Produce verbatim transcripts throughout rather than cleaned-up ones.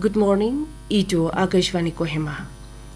Good morning, itu Akashvani Kohima.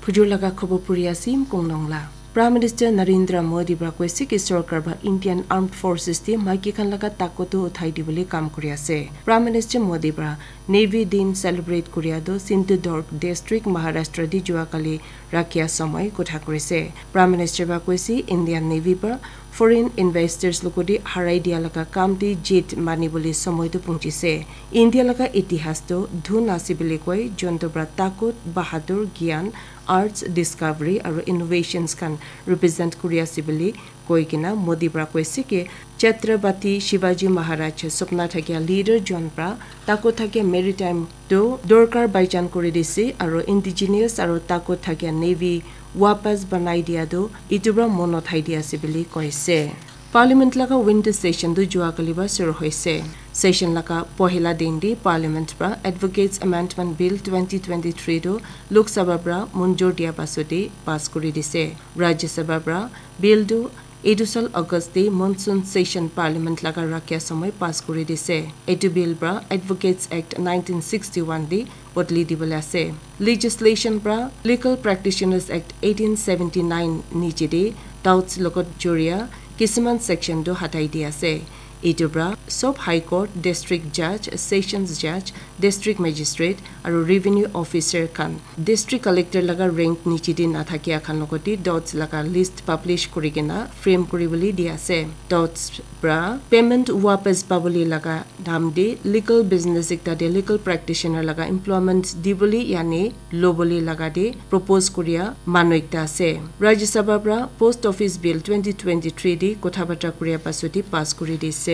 Phujur laga khobor puri asim kong nong la. Prime Minister Narendra Modi pra koise ki sorkar ba Indian Armed Forces te maiki khan laga takot tu uthai dibole kam kuri ase. Prime Minister Modi pra Navy Din celebrate kuria tu Sindhudurg District, Maharashtra di jua kali rakhia samay kotha kurise. Prime Minister ba koise Indian Navy ba foreign investors logodi harai dia laga kam te jit mani bole samay tu punchise. India laga itihas tu dhun ase bole koi, jonto pra takot, bahadur, gyan, arts, discovery aru innovations khan represent kuri ase bole koi kena Modi pra koise ki Chhatrapati Shivaji Maharaj sopna thakia leader jon pra takot thakia maritime tu dorkar baijan kuri dise aru indigenous aru takot thakia navy wapas banai dia tu itu pra mon uthai dia ase bole koise. Parliament laga winter session tu jua kali ba shuru hoise. Session laga pohila din di Parliament pra Advocates Amendment Bill twenty twenty-three tu Lok Sabha pra munjur dia pasode pass kuri dise. Rajya Sabha pra bill tu etu sal August te monsoon session Parliament laga rakhia samay pass kuri dise. Etu bill pra Advocates Act nineteen sixty-one te bodli dibole ase. Legislation pra Legal Practitioners Act eighteen seventy-nine niche te doubts logot juria kisiman section tu hatai di ase. Etu pra sob High Court, District Judge, Sessions Judge, District Magistrate aru Revenue Officer khan District Collector laga rank niche te nathakia khan logote doubts laga list publish kuri kena frame kuri bole di ase. Doubts pra payment wapas pabole laga dam de legal business ekta de legal practitioner laga employment dibole yani lobole laga de propose kuria manu ekta ase. Rajya Sabha pra Post Office Bill twenty twenty-three de kotha batra kuria pasode pass kuri dise.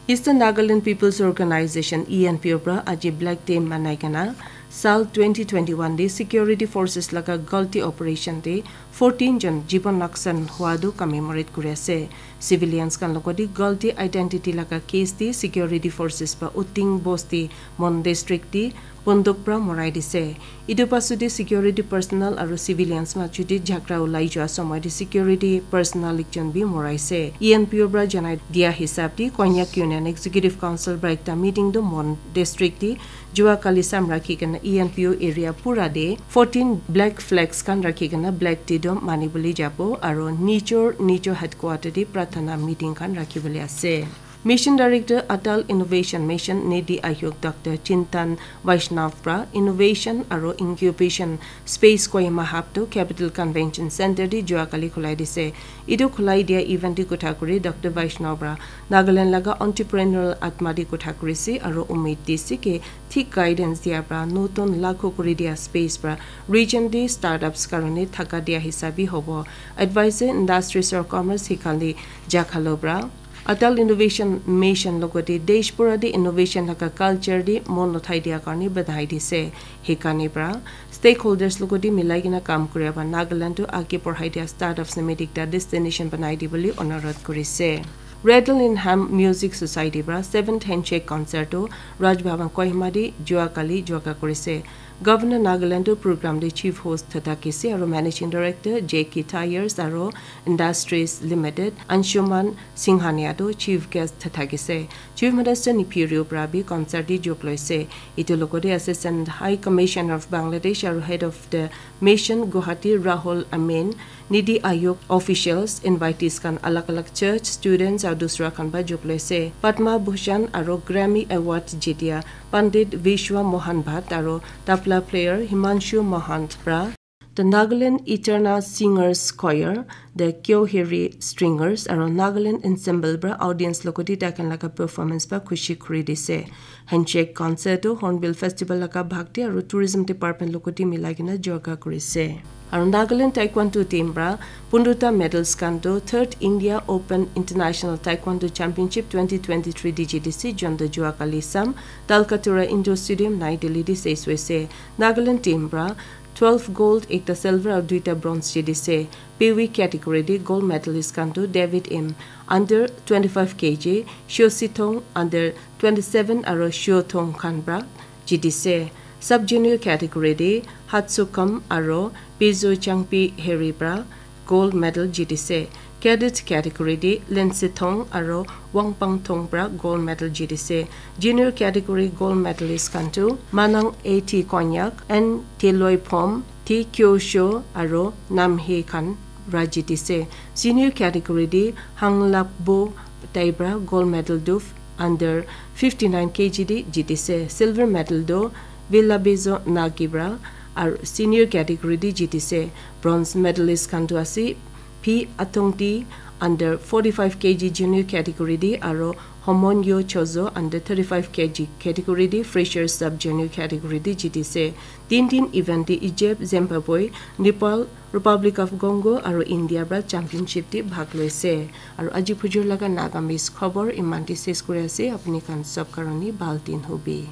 Eastern Nagaland People's Organization, E N P O pra aji Black Day manai kena sal twenty twenty-one de security forces laga galti operation de fourteen jon jiban naksan hua tu commemorate kuri ase. Civilians khan logote galti identity laga case te security forces pa Uting Bosti Mon District te bonduk pra morai dise. Etu pasode security personnel aru civilians majo te jhagara ulai jua samay te security personnel ekjon bi moraise. E N P O pra janai dia hisab te Konyak Union Executive Council pra ekta meeting tu Mon District te jua kali sam rakhi kena E N P O area pura de fourteen black flags khan rakhi kena black day tu mani bole jabo aru nijor nijor headquarter te prathana meeting khan rakhi bole ase. Mission Director Atal Innovation Mission Niti Aayog Doctor Chintan Vaishnaw pra Innovation aru Incubation Space Kohima Hub tu Capital Convention Center te jua kali khulai dise. Etu khulai dia event te kotha kuri Doctor Vaishnaw pra Nagaland laga entrepreneurial atma te kotha kurise aru umid dise ki thik guidance dia pra notun lakho kuri dia space pra region te startups karone thaka dia hisab bi hobo. Advisor Industries or Commerce hikali jakhalo pra Atal Innovation Mission logote desh pura te innovation laga culture te mon uthai dia karne badhai dise. Hikane pra stakeholders logote milai kena kam kuria pra Nagaland tu age porhai dia startups nimite ekta destination banai dibole onurodh kurise. Rattle in Ham Music Society pra seventh Handshake Concert tu Raj Bhavan Kohima te jua kali jua kurise. Governor Nagaland tu program te chief host thatakise aru Managing Director J K Tyres aru Industries Limited Anshuman Singhania tu chief guest thatakise. Chief Minister Neiphiu Rio pra bi concert te jog loise. Etu logote Assistant High Commissioner of Bangladesh aru Head of the Mission Guwahati Rahul Amin, Niti Aayog officials, invitees khan alag alag church, students aru dusra khan pa jog loise. Padma Bhushan aru Grammy Award jitia Pandit Vishwa Mohan Bhatt aru tabla player Himanshu Mahant pra The Nagaland Eternal Singers Choir, The Kyoheri Stringers aru Nagaland Ensemble pra audience logote tai khan laga performance pa khushi kuri dise. Handshake concert tu Hornbill Festival laga bhakti aru tourism department logote milai kena jorga kurise. Aru Nagaland Taekwondo team pra pundrota medals khan tu third India Open International Taekwondo Championship twenty twenty-three D G D C jonto jua kali sam Talkatura Indoor Stadium Nai Delhi te ses hoise. Nagaland team pra twelve gold, ekta silver aru duita bronze jitise. Pewi category te gold medalist khan tu David M under twenty-five K G, Shio Sithong under twenty-seven aru Shio Thong khan pra jitise. Sub junior category te Hatsukam aru Pizo Changpi Heri pra gold medal jitise. Cadet category te Lindsay Thong aro Wangpang Thong pra gold medal jitise. Junior category gold medalist khan tu Manang A T Konyak, N Teloi Phom, T Kyosho aro Namhe khan pra jitise. Senior category te Hanglapbo tai pra gold medal tu under fifty nine K G te jitise. Silver medal tu Villabezo Nagi pra aro senior category te jitise. Bronze medalist khan tu ase P Atongti under forty five K G junior category te aro Homonyo Chozo under thirty five K G category te fresher sub junior category te jitise. Tin tin event te Egypt, Zimbabwe, Nepal, Republic of Congo aro India pra championship te bhag loise. Aro aji phujur laga Nagamese khobor iman te ses kuri ase. Apni khan sob karone bhal din hobi.